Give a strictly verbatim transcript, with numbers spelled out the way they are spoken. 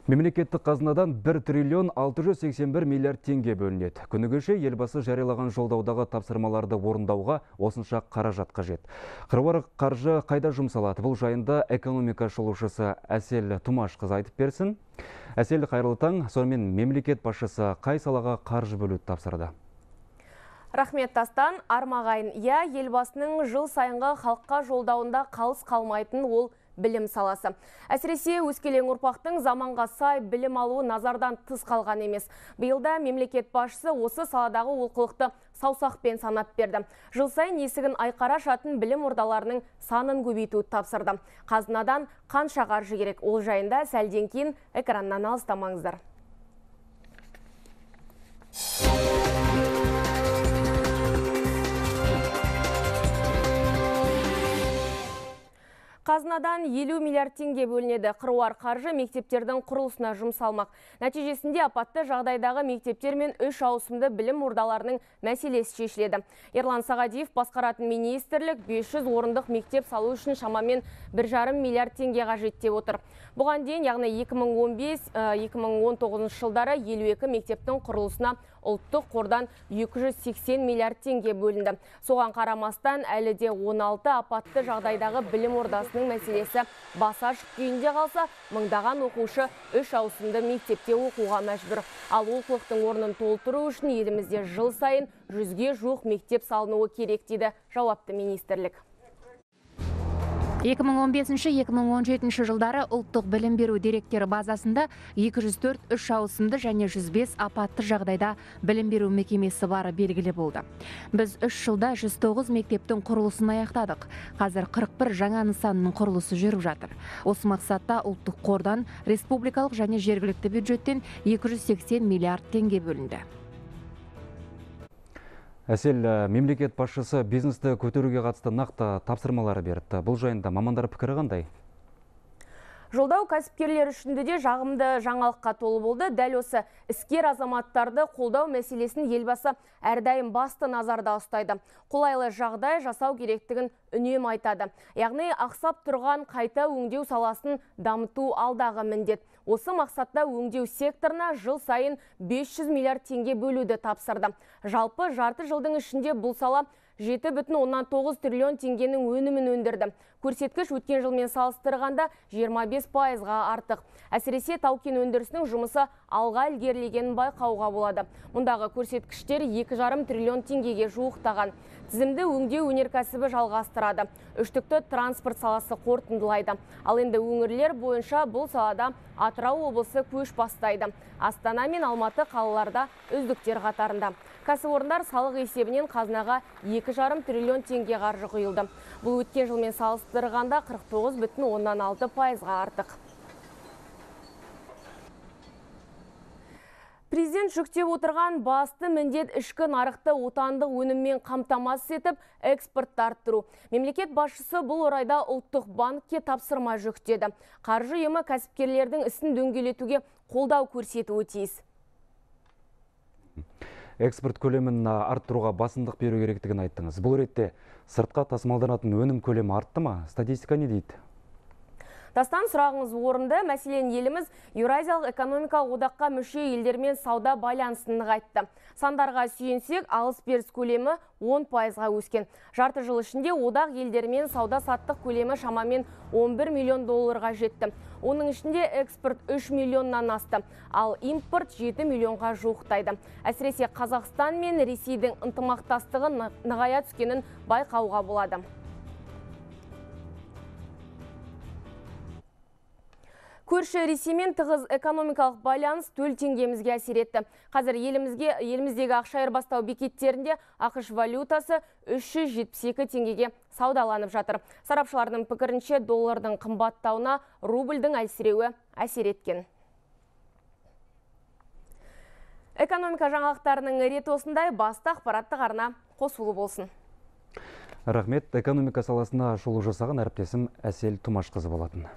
Мемлекеттік қазынадан бір триллион алты жүз сексен бір миллиард теңге бөлінеді. Күні кеше елбасы жариялаған жолдаудағы тапсырмаларды орындауға осынша қаражат қажет. Қыруар қаржы қайда жұмсалады? Бұл жайында экономика шолушысы Әсел Тұмашқызы айтып берсін. Әсел, қайырлы таң. Сонымен мемлекет басшысы қай салаға қаржы бөлуді тапсырды? Рахмет, Тастан. Армағайын, я елбасының жыл сайынғы халыққа жолдауында қалыс қалмайтын ол білім саласы. Әсіресе өскелең ұрпақтың заманға сай білім алуы назардан тыс қалған емес. Биылда мемлекет басшысы осы саладағы олқылықты саусақпен санап берді. Жыл сайын есігін айқара ашатын білім ордаларының санын көбейтуді тапсырды. Қазынадан қанша қаржы керек? Ол жайында сәлден кейін экраннан алыстамаңыздар. Қазынадан елу миллиард теңге бөлінеді. Қыруар қаржы мектептердің құрылысына жұмсалмақ. Нәтижесінде апатты жағдайдағы мектептер мен үш ауысымды білім ордаларының мәселесі шешіледі. Ерлан Сағадиев басқаратын министрлік бес жүз орындық мектеп салу үшін шамамен бір жарым миллиард теңге қажет деп отыр. Бұған дейін, яғни екі мың он бес - екі мың он тоғызыншы жылдары елу екі мектептің құрылысына ұлттық қордан екі жүз сексен миллиард теңге бөлінді. Соған қарамастан әлі де он алты апатты жағдайдағы білім ордасының мәселесі баса ашық күйінде қалса, мыңдаған оқушы үш ауысымды мектепте оқуға мәжбүр. Ал олқылықтың орнын толтыру үшін елімізде жыл сайын жүзге жуық мектеп салынуы керек дейді жауапты министрлік. екі мың он бесінші - екі мың он жетінші жылдары ұлттық білім беру деректері базасында екі жүз төрт үш ауысымды және жүз бес апатты жағдайда білім беру мекемесі бары белгілі болды. Біз үш жылда жүз тоғыз мектептің құрылысын аяқтадық. Қазір қырық бір жаңа нысанның құрылысы жүріп жатыр. Осы мақсатта ұлттық қордан, республикалық және жергілікті бюджеттен екі жүз сексен миллиард теңге бөлінді. Әсел, мемлекет басшысы бизнесті көтеруге қатысты нақты тапсырмалары берді. Бұл жайында мамандар пікірі қандай? Жолдау кәсіпкерлер үшінде де жағымды жаңалыққа толы болды. Дәл осы іскер азаматтарды қолдау мәселесін елбасы әрдайым басты назарда ұстайды. Қолайлы жағдай жасау керектігін үнемі айтады. Яғни ақсап тұрған қайта өңдеу саласын дамыту алдағы міндет. Осы мақсатта өңдеу секторына жыл сайын бес жүз миллиард теңге бөлуді тапсырды. Жалпы жарты жылдың ішінде бұл сала жеті бүтін оннан тоғыз триллион теңгенің өнімін өндірді. Көрсеткіш өткен жылмен салыстырғанда жиырма бес пайызға артық. Әсіресе тау-кен өндірісінің жұмысы алға ілгерілегенін байқауға болады. Мұндағы көрсеткіштер екі жарым триллион теңгеге жуықтаған. Тізімді өңдеу өнеркәсібі жалғастырады. Үштікті транспорт саласы қорытындылайды. Ал енді өңірлер бойынша бұл салада Атырау облысы көш бастайды. Астана мен Алматы қалаларда үздіктер қатарында. Кәсіпорындар салық есебінен қазынаға екі жарым триллион теңге қаржы құйылды. Бұл өткен жылмен салыстырғанда қырық тоғыз бүтін оннан алты пайызға артық. Президент жүктеп отырған басты міндет ішкі нарықты отандық өніммен қамтамасыз етіп, экспортты арттыру. Мемлекет басшысы бұл орайда ұлттық банкке тапсырма жүктеді. Қаржы ұйымы кәсіпкерлердің ісін дөңгелетуге қолдау көрсетуі тиіс. Экспорт көлемін арттыруға басымдық беру керектігін айттыңыз. Бұл ретте сыртқа тасымалданатын өнім көлемі артты ма? Статистика не дейді? Тастан, сұрағыңыз орынды. Мәселен, еліміз Еуразиялық экономикалық одаққа мүше елдермен сауда байланысын нығайтты. Сандарға сүйенсек, алыс-беріс көлемі он пайызға өскен. Жарты жыл ішінде одақ елдермен сауда-саттық көлемі шамамен он бір миллион долларға жетті. Оның ішінде экспорт үш миллионнан асты, ал импорт жеті миллионға жуықтайды. Әсіресе Қазақстан мен Ресейдің ынтымақтастығы нығая түскенін байқауға болады. Көрші Ресеймен тығыз экономикалық байланыс төл теңгемізге әсер етті. Қазір елімізге, еліміздегі ақша айырбастау бекеттерінде ақш валютасы үш жүз жетпіс екі теңгеге саудаланып жатыр. Сарапшылардың пікірінше доллардың қымбаттауына рубльдің әлсіреуі әсер еткен. Экономика жаңалықтарының реті осындай. Басты ақпараттық арна қосулы болсын. Рахмет, экономика саласына шолу жасаған әріптесім Әсел Тұмашқызы болатын.